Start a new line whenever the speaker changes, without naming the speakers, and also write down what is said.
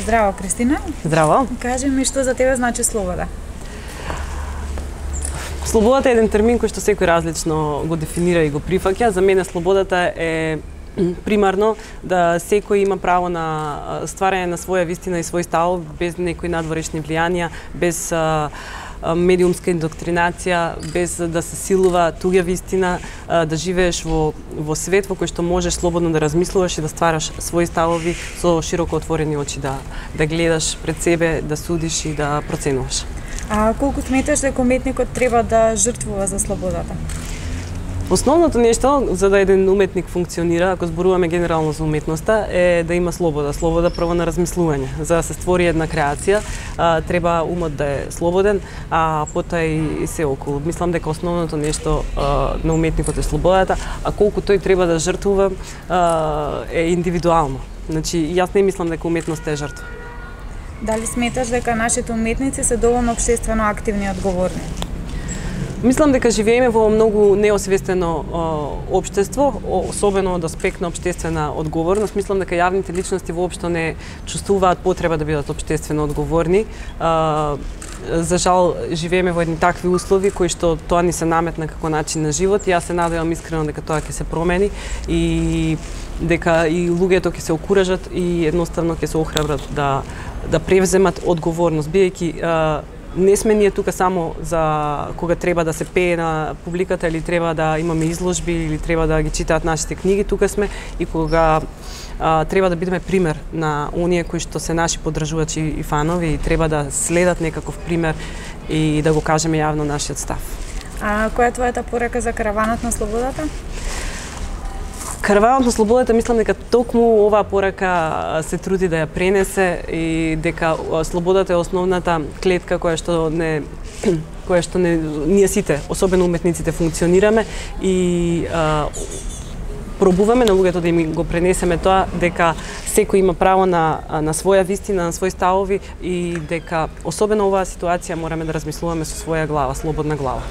Здраво, Кристина.
Здраво.
Кажи ми што за тебе значи слобода?
Слободата е еден термин кој што секој различно го дефинира и го прифаќа. За мене слободата е примарно да секој има право на стварање на своја вистина и свој став без некои надворешни влијанија, без медиумска индоктринација, без да се силува туѓа вистина, да живееш во свет во кој што можеш слободно да размислуваш и да ствараш своји ставови со широко отворени очи, да гледаш пред себе, да судиш и да проценуваш.
А колку сметаш дека уметникот треба да жртвува за слободата?
Основното нешто за да еден уметник функционира, ако зборуваме генерално за уметноста, е да има слобода. Слобода право на размислување. За да се створи една креација, треба умот да е слободен, а потоа и се околу. Мислам дека основното нешто на уметникот е слободата, а колку тој треба да жртвува е индивидуално. Значи, јас не мислам дека уметноста е жртва.
Дали сметаш дека нашите уметници се доволно општествено активни и одговорни?
Мислам дека живееме во многу неосвестено општество, особено од аспект на општествена одговорност. Мислам дека јавните личности воопшто не чувствуваат потреба да бидат општествено одговорни. За жал, живееме во едни такви услови кои што тоа ни се наметна како начин на живот. Јас се надевам искрено дека тоа ќе се промени и дека и луѓето ќе се окуражат и едноставно ќе се охрабрат да превземат одговорност, бидејќи не сме ние тука само за кога треба да се пее на публиката или треба да имаме изложби или треба да ги читаат нашите книги, тука сме и кога треба да бидеме пример на оние кои што се наши поддржувачи и фанови и треба да следат некаков пример и да го кажеме јавно нашиот став.
А која е твојата порака за караванот на слободата?
Караванот на слободата, мислам дека токму оваа порака се труди да ја пренесе и дека слободата е основната клетка која што ние сите, особено уметниците, функционираме и пробуваме на луѓето да им го пренесеме тоа дека секој има право на своја вистина, на свои ставови и дека особено оваа ситуација мораме да размислуваме со своја глава, слободна глава.